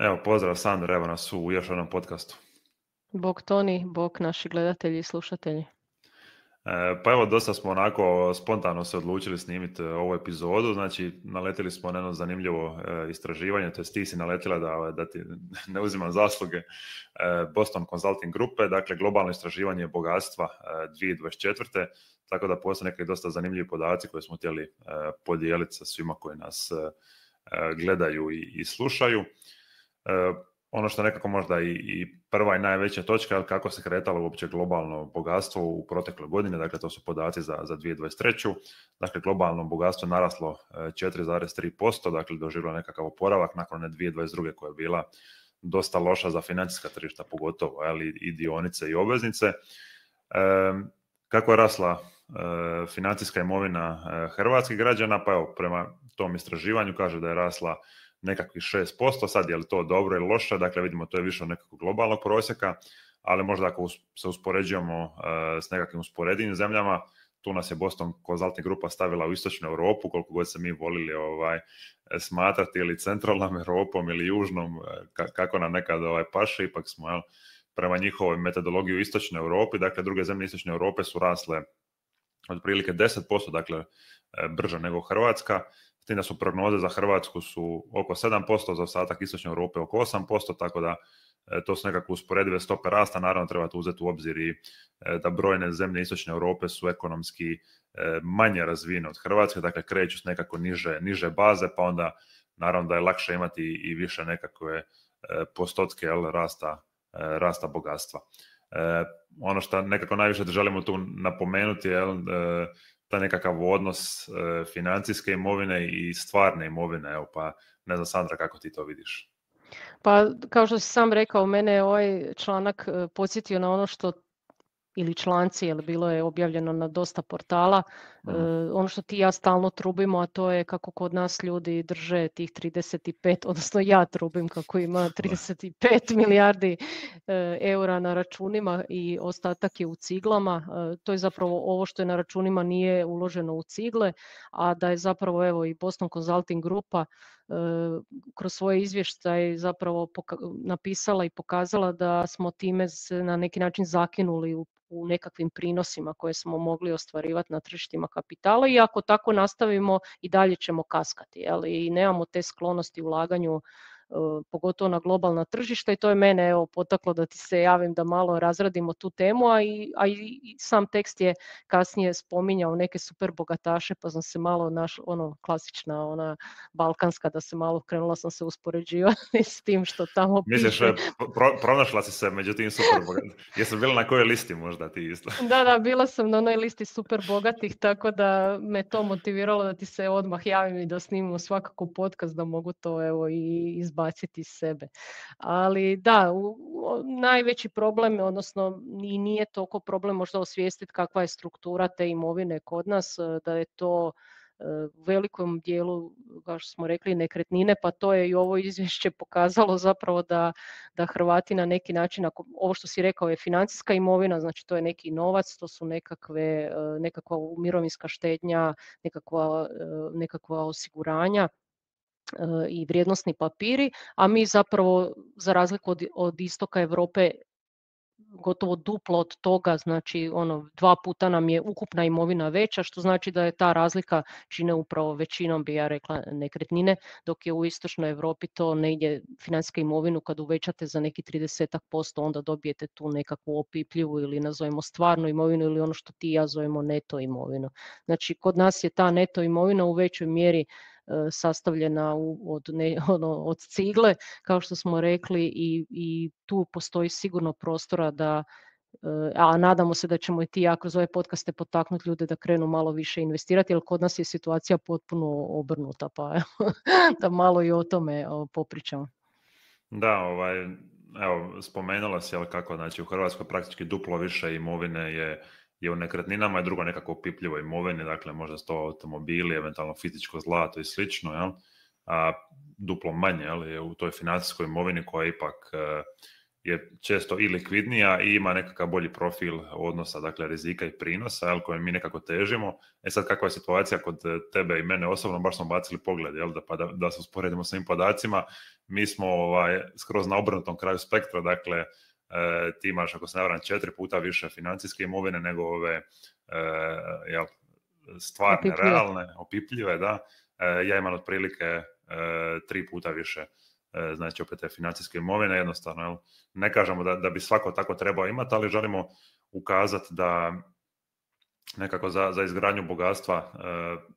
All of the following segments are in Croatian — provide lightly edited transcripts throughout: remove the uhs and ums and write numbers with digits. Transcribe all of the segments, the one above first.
Evo, pozdrav Sandra, evo nas u još jednom podcastu. Bog Toni, bog naši gledatelji i slušatelji. Pa evo, dosta smo onako spontano se odlučili snimiti ovu epizodu, znači naletili smo na jedno zanimljivo istraživanje, to jest ti si naletila da ti ne uzimam zasluge, Boston Consulting grupe, dakle globalno istraživanje bogatstva 2024. Tako da postoje neki dosta zanimljivi podaci koje smo htjeli podijeliti sa svima koji nas gledaju i slušaju. Ono što nekako možda i prva i najveća točka je kako se kretalo uopće globalno bogatstvo u protekloj godini, dakle to su podaci za 2023. Dakle, globalno bogatstvo je naraslo 4,3%, dakle doživjelo nekakav oporavak nakon one 2022. koja je bila dosta loša za financijska tržišta, pogotovo ali i dionice i obveznice. Kako je rasla financijska imovina hrvatskih građana? Pa evo, prema tom istraživanju kaže da je rasla nekakvih 6%, sad je li to dobro ili loše, dakle vidimo to je više od nekakvog globalnog prosjeka, ali možda ako se uspoređujemo s nekakvim usporedivim zemljama, tu nas je Boston Consulting grupa stavila u istočnu Europu, koliko god se mi volili smatrati ili centralnom Europom ili južnom, kako nam nekad paše, ipak smo prema njihovoj metodologiji u istočnoj Europi, dakle druge zemlje istočne Europe su rasle otprilike 10%, dakle brže nego Hrvatska. S tim da su prognoze za Hrvatsku su oko 7%, za ostatak istočne Europe oko 8%, tako da to su nekako usporedive stope rasta. Naravno treba uzeti u obzir i da brojne zemlje istočne Europe su ekonomski manje razvijene od Hrvatske, dakle kreću s nekako niže baze, pa onda naravno da je lakše imati i više nekakve postotke rasta bogatstva. Ono što nekako najviše želimo tu napomenuti je taj nekakav odnos financijske imovine i stvarne imovine. Evo, pa ne znam, Sandra, kako ti to vidiš? Pa kao što si sam rekao, mene je ovaj članak podsjetio na ono što, ili članci, jer bilo je objavljeno na dosta portala, ono što ti i ja stalno trubimo, a to je kako kod nas ljudi drže tih 35, odnosno ja trubim kako ima 35 milijardi eura na računima i ostatak je u ciglama. To je zapravo ovo što je na računima nije uloženo u cigle, a da je zapravo evo i Boston Consulting grupa kroz svoje izvještaje zapravo napisala i pokazala da smo time se na neki način zakinuli u nekakvim prinosima koje smo mogli ostvarivati na tržištima kapitala i ako tako nastavimo i dalje ćemo kaskati, i nemamo te sklonosti ulaganju pogotovo na globalna tržišta i to je mene potaklo da ti se javim da malo razradimo tu temu, a i sam tekst je kasnije spominjao neke super bogataše pa sam se malo klasična ona balkanska da se malo krenula sam se uspoređivati s tim što tamo piše. Misliš, pronašla si se među tim super bogatih? Jesu bila na kojoj listi možda ti isto? Da, bila sam na onoj listi super bogatih, tako da me to motiviralo da ti se odmah javim i da snimimo svakako podcast da mogu to i izbaciti iz sebe. Ali da, najveći problem, odnosno i nije toliko problem možda osvijestiti kakva je struktura te imovine kod nas, da je to u velikom dijelu, kao što smo rekli, nekretnine, pa to je i ovo izvješće pokazalo zapravo da Hrvati na neki način, ako ovo što si rekao je financijska imovina, znači to je neki novac, to su nekakva mirovinska štednja, nekakva osiguranja i vrijednosni papiri, a mi zapravo za razliku od istoka Europe gotovo duplo od toga, znači 2 puta nam je ukupna imovina veća, što znači da je ta razlika čine upravo većinom, bi ja rekla, nekretnine, dok je u istočnoj Europi to negdje financijska imovinu kad uvećate za neki 30%, onda dobijete tu nekakvu opipljivu ili nazovemo stvarnu imovinu ili ono što ti i ja zovemo neto imovinu. Znači kod nas je ta neto imovina u većoj mjeri sastavljena od cigle, kao što smo rekli, i tu postoji sigurno prostora da, a nadamo se da ćemo i ti ja kroz ove podcaste potaknuti ljude da krenu malo više investirati, jer kod nas je situacija potpuno obrnuta, pa da malo i o tome popričamo. Da, evo, spomenula si kako, znači u Hrvatskoj praktički duplo više imovine je u nekretninama i drugo nekako opipljivo imovine, dakle možda su to automobili, eventualno fizičko zlato i slično, a duplo manje je u toj financijskoj imovini koja je ipak je često i likvidnija i ima nekakav bolji profil odnosa, dakle rizika i prinosa, jel, kojem mi nekako težimo. Sad kakva je situacija kod tebe i mene osobno, baš smo bacili pogled, jel, da se usporedimo s ovim podacima. Mi smo skroz na obrnutom kraju spektra, dakle ti imaš, ako se ne varam, 4 puta više financijske imovine nego ove stvarne, opipljive, realne, opipljive, da. Ja imam otprilike 3 puta više, znači opet te financijske imovine, jednostavno, jel? Ne kažemo da bi svako tako trebao imati, ali želimo ukazati da nekako za izgradnju bogatstva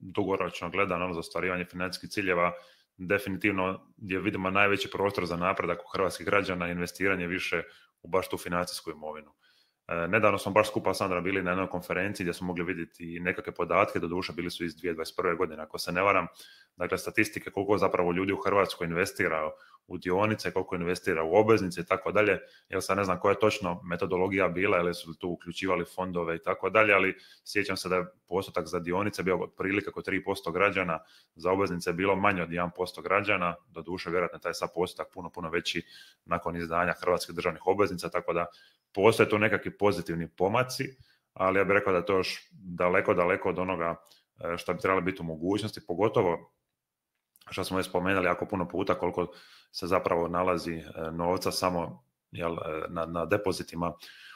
dugoročno gledano, za ostvarivanje financijskih ciljeva, definitivno gdje vidimo najveći prostor za napredak u hrvatskih građana, investiranje više u baš tu financijsku imovinu. Nedavno smo baš skupa Sandra bili na jednoj konferenciji gdje smo mogli vidjeti nekakve podatke, doduše bili su iz 2021. godine, ako se ne varam, dakle statistike koliko zapravo ljudi u Hrvatskoj investira u dionice, koliko investira u obveznice i tako dalje. Ja sad ne znam koja je točno metodologija bila, ili su tu uključivali fondove i tako dalje, ali sjećam se da je postotak za dionice bio otprilike oko 3% građana, za obveznice je bilo manje od 1% građana, doduše vjerojatno taj sad postotak puno veći nakon izdanja hrvatskih državnih obveznica, tako da postoje tu nekakvi pozitivni pomaci, ali ja bih rekao da je to još daleko od onoga što bi trebalo biti u mogućnosti, pogotovo što smo već spomenuli jako puno puta koliko se zapravo nalazi novca samo na depozitima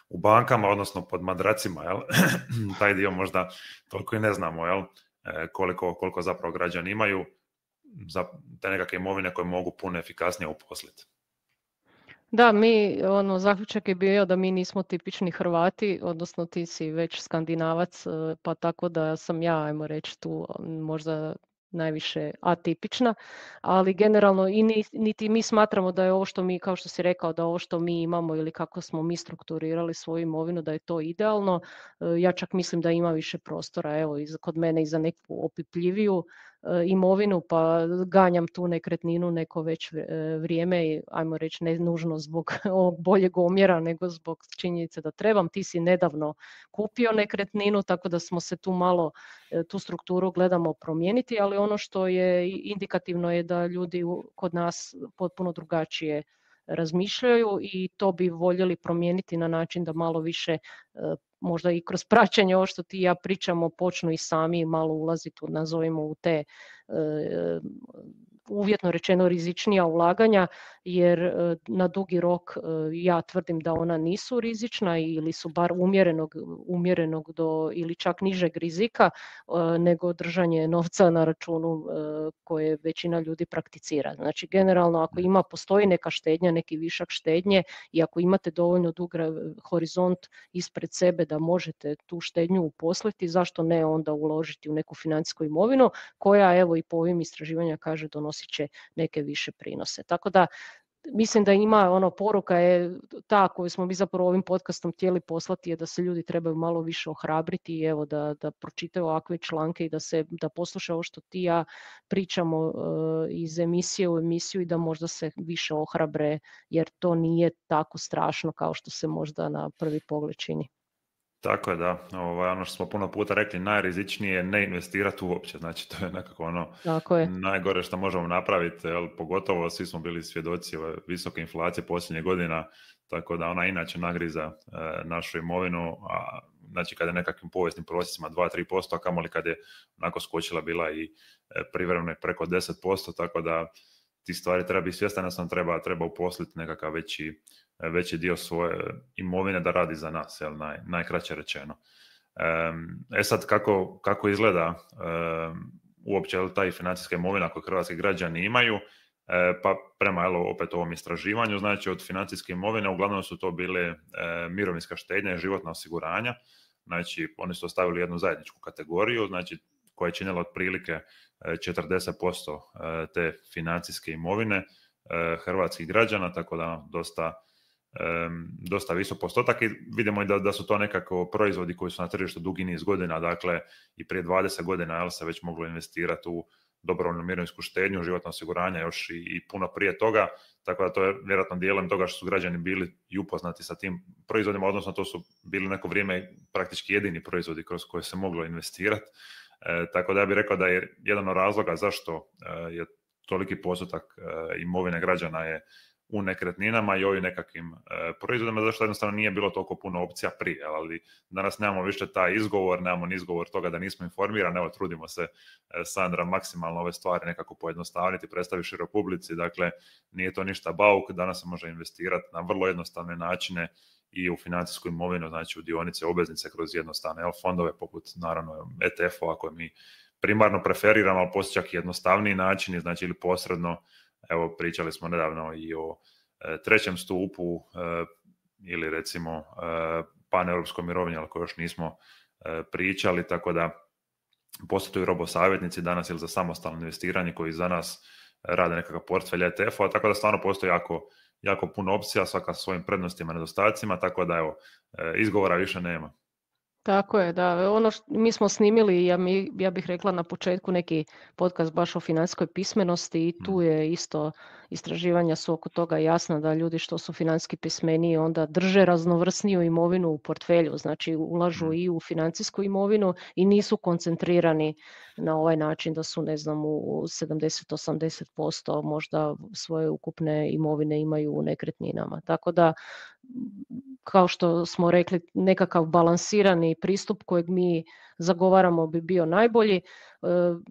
u bankama, odnosno pod madracima, jel? Taj dio možda toliko i ne znamo, jel? Koliko zapravo građani imaju za te nekakve imovine koje mogu puno efikasnije uposliti. Da, zaključak je bio da mi nismo tipični Hrvati, odnosno ti si već Skandinavac, pa tako da sam ja, ajmo reći, tu možda najviše atipična, ali generalno niti mi smatramo da je ovo što mi, kao što si rekao, da ovo što mi imamo ili kako smo mi strukturirali svoju imovinu, da je to idealno. Ja čak mislim da ima više prostora, evo, kod mene i za neku opipljiviju imovinu, pa ganjam tu nekretninu neko već vrijeme, ajmo reći ne nužno zbog ovog boljeg omjera, nego zbog činjenice da trebam. Ti si nedavno kupio nekretninu, tako da smo se tu malo, tu strukturu gledamo promijeniti, ali ono što je indikativno je da ljudi kod nas potpuno drugačije razmišljaju i to bi voljeli promijeniti na način da malo više možda i kroz praćenje ovo što ti i ja pričamo počnu i sami malo ulaziti, nazovimo, u te uvjetno rečeno rizičnija ulaganja, jer na dugi rok ja tvrdim da ona nisu rizična ili su bar umjerenog do ili čak nižeg rizika nego držanje novca na računu koje većina ljudi prakticira. Znači generalno ako postoji neka štednja, neki višak štednje i ako imate dovoljno dug horizont ispred sebe da možete tu štednju uposliti, zašto ne onda uložiti u neku financijsku imovinu koja, evo i po ovim istraživanjima kaže, donosit će neke više prinose. Tako da mislim da ima poruka je ta koju smo mi zapravo ovim podcastom htjeli poslati, je da se ljudi trebaju malo više ohrabriti i evo da pročitaju ovakve članke i da poslušaju ovo što ti ja pričamo iz emisije u emisiju i da možda se više ohrabre, jer to nije tako strašno kao što se možda na prvi pogled čini. Tako je, da. Ono što smo puno puta rekli, najrizičnije je ne investirati uopće. Znači, to je nekako najgore što možemo napraviti, pogotovo svi smo bili svjedoci visoke inflacije posljednjih godina, tako da ona inače nagriza našu imovinu, znači kada je nekakvim povijesnim prosjecima 2-3%, a kamoli kad je onako skočila bila i privremeno preko 10%, tako da ti stvari treba biti svjestan, da sam treba uposliti nekakav veći dio svoje imovine da radi za nas, najkraće rečeno. Sad kako izgleda uopće taj financijska imovina koju hrvatski građani imaju, pa prema opet ovom istraživanju, znači od financijske imovine uglavnom su to bile mirovinska štednja i životna osiguranja, znači oni su ostavili jednu zajedničku kategoriju, znači koja je činila otprilike 40% te financijske imovine hrvatskih građana, tako da dosta visok postotak i vidimo da su to nekako proizvodi koji su na tržištu dugi niz godina, dakle i prije 20 godina se već moglo investirati u dobrovoljnu mirovinsku štednju, životno osiguranje još i puno prije toga, tako da to je vjerojatno dijelom toga što su građani bili i upoznati sa tim proizvodima, odnosno to su bili neko vrijeme praktički jedini proizvodi kroz koje se moglo investirati, tako da ja bih rekao da je jedan od razloga zašto je toliki postotak imovine građana je u nekretninama i ovim nekakvim proizvodima, zašto jednostavno nije bilo toliko puno opcija prije, ali danas nemamo više taj izgovor, nemamo ni izgovor toga da nismo informirani, evo trudimo se, Sandra, maksimalno ove stvari nekako pojednostavniti, predstavi široj publici, dakle nije to ništa bauk, danas se može investirati na vrlo jednostavne načine i u financijsku imovinu, znači u dionice, obveznice kroz jednostavne fondove poput naravno ETF-ova koje mi primarno preferiramo, ali postoji čak i jednostavniji načini, znači ili posredno. Evo, pričali smo nedavno i o trećem stupu ili recimo paneuropskoj mirovini, ali koje još nismo pričali, tako da postoje tu i robosavjetnici danas ili za samostalno investiranje koji za nas rade nekakav portfelj ETF-a, tako da stvarno postoji jako puno opcija, svaka sa svojim prednostima i nedostacima, tako da evo, izgovora više nema. Tako je, da. Mi smo snimili, ja bih rekla na početku, neki podcast baš o financijskoj pismenosti i tu je isto istraživanja su oko toga jasna da ljudi što su financijski pismeniji onda drže raznovrsniju imovinu u portfelju, znači ulažu i u financijsku imovinu i nisu koncentrirani na ovaj način da su, ne znam, u 70-80% možda svoje ukupne imovine imaju u nekretninama. Tako da, kao što smo rekli, nekakav balansirani pristup kojeg mi zagovaramo bi bio najbolji.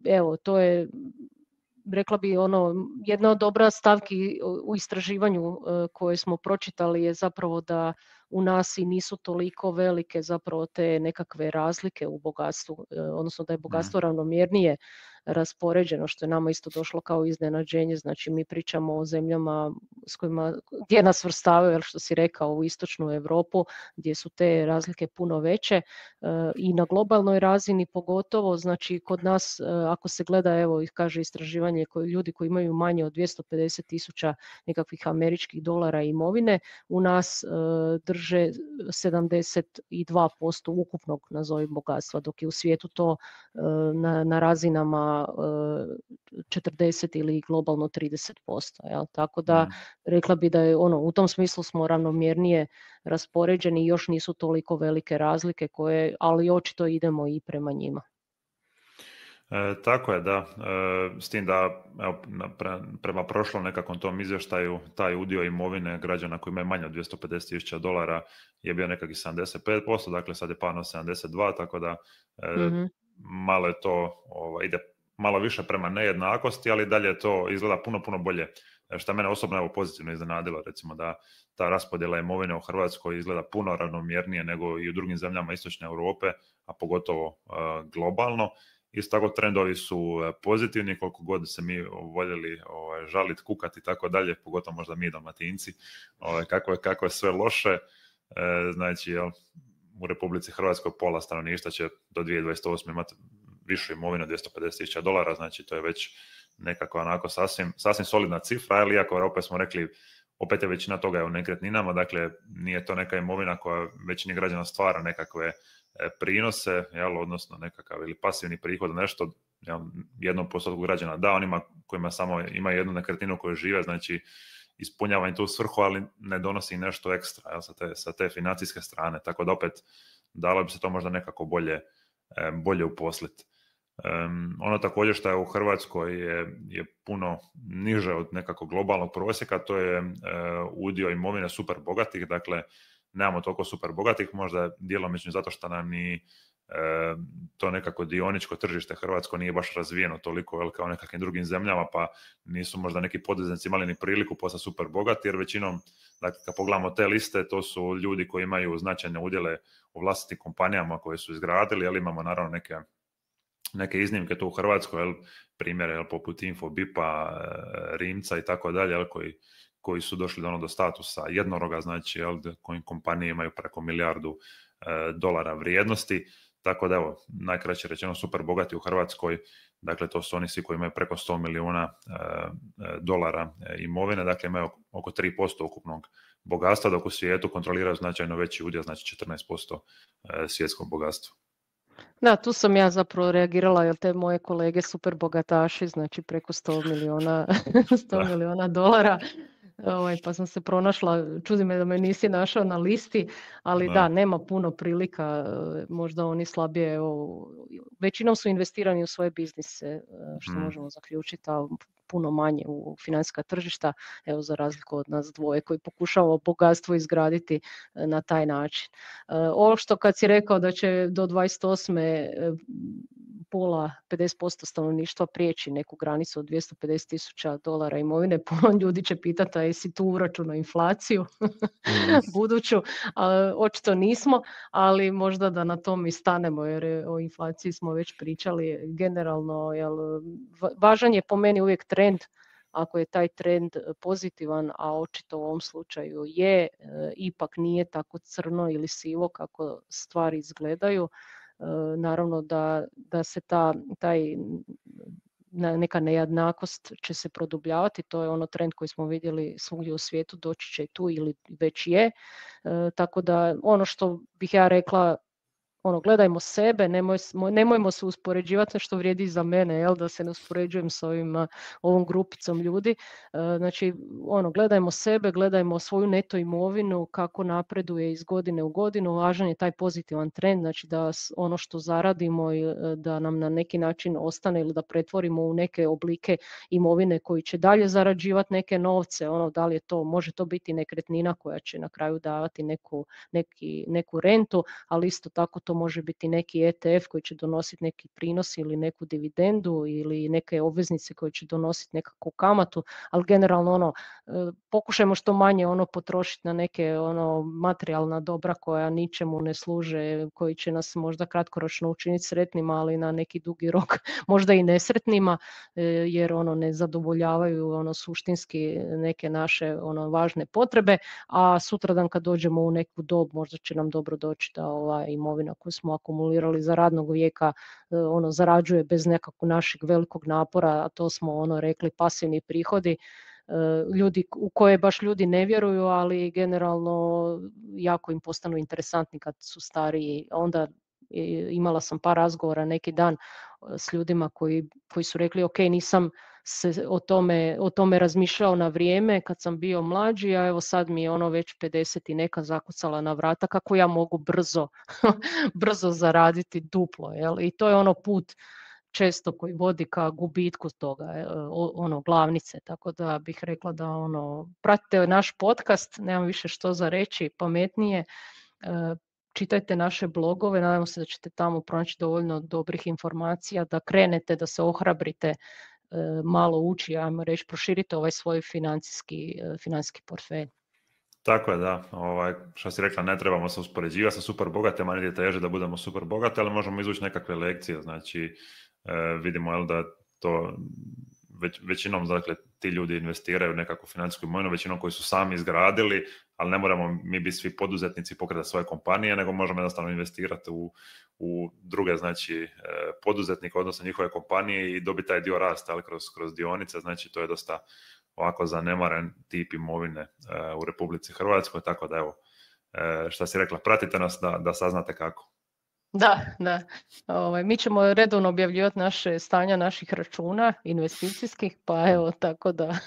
Evo, to je, rekla bi, jedna od dobra stavki u istraživanju koje smo pročitali je zapravo da u nas i nisu toliko velike zapravo te nekakve razlike u bogatstvu, odnosno da je bogatstvo ravnomjernije raspoređeno, što je nama isto došlo kao iznenađenje. Znači mi pričamo o zemljama gdje nas svrstavaju, što si rekao, u istočnu Europu, gdje su te razlike puno veće i na globalnoj razini pogotovo. Znači kod nas, ako se gleda, evo kaže istraživanje, ljudi koji imaju manje od 250.000 nekakvih američkih dolara imovine, u nas drže 72% ukupnog, nazovi, bogatstva, dok je u svijetu to na razinama 40 ili globalno 30%. Jel? Tako da rekla bi da je u tom smislu smo ravnomjernije raspoređeni i još nisu toliko velike razlike ali očito idemo i prema njima. Tako je, da. S tim da evo, prema prošlom nekakvom tom izvještaju taj udio imovine građana koji imaju manje od 250.000 dolara je bio nekakvih 75%, dakle sad je pao na 72%, tako da malo je to, ide malo više prema nejednakosti, ali dalje to izgleda puno bolje. Što mene osobno evo pozitivno iznenadilo, recimo da ta raspodjela imovine u Hrvatskoj izgleda puno ravnomjernije nego i u drugim zemljama istočne Europe, a pogotovo globalno. Isto tako trendovi su pozitivni, koliko god se mi voljeli žaliti, kukati i tako dalje, pogotovo možda mi Dalmatinci, kako je sve loše. Znači, u Republici Hrvatskoj pola stanovništva će do 2028. imati višu imovinu, 250.000 dolara, znači to je već nekako onako sasvim solidna cifra, ali iako opet smo rekli, opet je većina toga je u nekretninama, dakle nije to neka imovina koja većini građana stvara nekakve prinose, odnosno nekakav ili pasivni prihod, nešto 1% građana da, onima kojima samo imaju jednu nekretninu koju žive, znači ispunjava im tu svrhu, ali ne donosi nešto ekstra sa te financijske strane, tako da opet dalo bi se to možda nekako bolje uposliti. Ono također što je u Hrvatskoj je puno niže od nekakvog globalnog prosjeka, to je udio imovine super bogatih, dakle nemamo toliko super bogatih, možda djelomično zato što nam ni to nekako dioničko tržište hrvatsko nije baš razvijeno toliko kao u nekakvim drugim zemljama, pa nisu možda neki poduzetnici imali ni priliku postati super bogati, jer većinom, dakle, kad pogledamo te liste, to su ljudi koji imaju značajne udjele u vlastitim kompanijama koje su izgradili, ali imamo naravno neke iznimke tu u Hrvatskoj, primjere poput Infobipa, Rimca i tako dalje, koji su došli do statusa jednoroga, znači koji kompanije imaju preko milijardu dolara vrijednosti, tako da evo, najkraće rečeno super bogati u Hrvatskoj, dakle to su oni svi koji imaju preko 100 milijuna dolara imovine, dakle imaju oko 3% ukupnog bogatstva, dok u svijetu kontroliraju značajno veći udio, znači 14% svjetskog bogatstva. Da, tu sam ja zapravo reagirala, jer te moje kolege super bogataši, znači preko 100 milijuna dolara, pa sam se pronašla, čudi me da me nisi našao na listi, ali da, nema puno prilika, možda oni slabije, većinom su investirani u svoje biznise, što možemo zaključiti, a puno manje u financijska tržišta, evo za razliku od nas dvoje koji pokušavamo bogatstvo izgraditi na taj način. Ovo što kad si rekao da će do 28. pola, 50% stanovništva prijeći neku granicu od $250,000 imovine, puno ljudi će pitati a jesi tu uračunao inflaciju buduću, očito nismo, ali možda da na tom i stanemo jer o inflaciji smo već pričali generalno, važan je po meni uvijek trend. Ako je taj trend pozitivan, a očito u ovom slučaju je, ipak nije tako crno ili sivo kako stvari izgledaju, naravno da se taj neka nejednakost će se produbljavati, to je ono trend koji smo vidjeli svugdje u svijetu, doći će i tu ili već je, tako da ono što bih ja rekla, gledajmo sebe, nemojmo se uspoređivati, što vrijedi za mene, da se ne uspoređujem s ovom grupicom ljudi. Znači, gledajmo sebe, gledajmo svoju neto imovinu, kako napreduje iz godine u godinu, važan je taj pozitivan trend, znači da ono što zaradimo da nam na neki način ostane ili da pretvorimo u neke oblike imovine koji će dalje zarađivati neke novce, da li je to, može to biti nekretnina koja će na kraju davati neku rentu, ali isto tako to može biti neki ETF koji će donositi neki prinos ili neku dividendu ili neke obveznice koje će donositi nekakvu kamatu, ali generalno pokušajmo što manje potrošiti na neke materijalna dobra koja ničemu ne služe, koji će nas možda kratkoročno učiniti sretnima, ali na neki dugi rok možda i nesretnima, jer ne zadovoljavaju suštinski neke naše važne potrebe, a sutradan kad dođemo u neku dob možda će nam dobro doći da ova imovina koju smo akumulirali za radnog vijeka zarađuje bez nekakvog našeg velikog napora, a to smo rekli pasivni prihodi, ljudi u koje baš ljudi ne vjeruju, ali generalno jako im postanu interesantni kad su stariji. Onda imala sam par razgovora neki dan s ljudima koji su rekli ok, nisam se o tome razmišljao na vrijeme kad sam bio mlađi, a evo sad mi je već 50 i neka zakucala na vrata, kako ja mogu brzo zaraditi duplo. I to je put često koji vodi ka gubitku toga, glavnice, tako da bih rekla da pratite naš podcast, nemam više što za reći pametnije, čitajte naše blogove, nadamo se da ćete tamo pronaći dovoljno dobrih informacija, da krenete, da se ohrabrite, malo uči, ajmo reći, proširite ovaj svoj financijski portfelj. Tako je, da. Što si rekla, ne trebamo se uspoređivati sa super bogatima, niti je teže da budemo super bogati, ali možemo izvući nekakve lekcije. Znači, vidimo da to većinom, dakle, ti ljudi investiraju u nekakvu financijsku imovinu, većinom koji su sami izgradili, ali ne moramo mi biti svi poduzetnici, pokretati svoje kompanije, nego možemo jednostavno investirati u druge, znači, poduzetnike, odnosno njihove kompanije i dobiti taj dio rasta, ali kroz dionice. Znači, to je dosta ovako zanemaren tip imovine u Republici Hrvatskoj, tako da evo, šta si rekla, pratite nas da saznate kako. Da. Mi ćemo redovno objavljivati naše stanja naših računa investicijskih, pa evo, tako da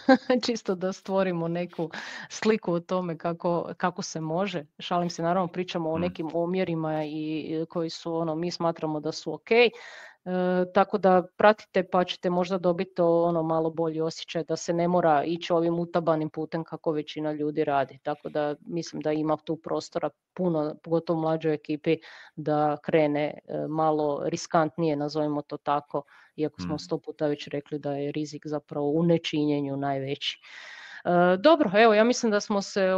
čisto da stvorimo neku sliku o tome kako se može. Šalim se, naravno pričamo o nekim omjerima i koji su mi smatramo da su ok. Tako da pratite pa ćete možda dobiti malo bolji osjećaj da se ne mora ići ovim utabanim putem kako većina ljudi radi. Tako da mislim da ima tu prostora puno, pogotovo u mlađoj ekipi, da krene malo riskantnije, nazovimo to tako, iako smo 100 puta već rekli da je rizik zapravo u nečinjenju najveći. Dobro, evo, ja mislim da smo se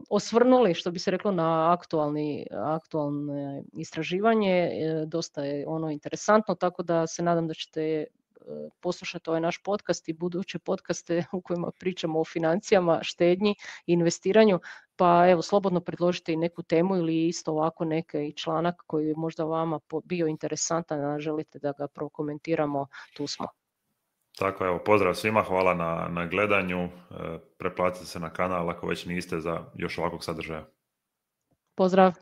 osvrnuli, što bi se reklo, na aktualne istraživanje, dosta je interesantno, tako da se nadam da ćete poslušati ovaj naš podcast i buduće podcaste u kojima pričamo o financijama, štednji, investiranju, pa evo, slobodno predložite i neku temu ili isto ovako neki članak koji je možda vama bio interesantan, a želite da ga prokomentiramo, tu smo. Tako, evo, pozdrav svima, hvala na gledanju, preplatite se na kanal ako već niste za još ovakvog sadržaja. Pozdrav!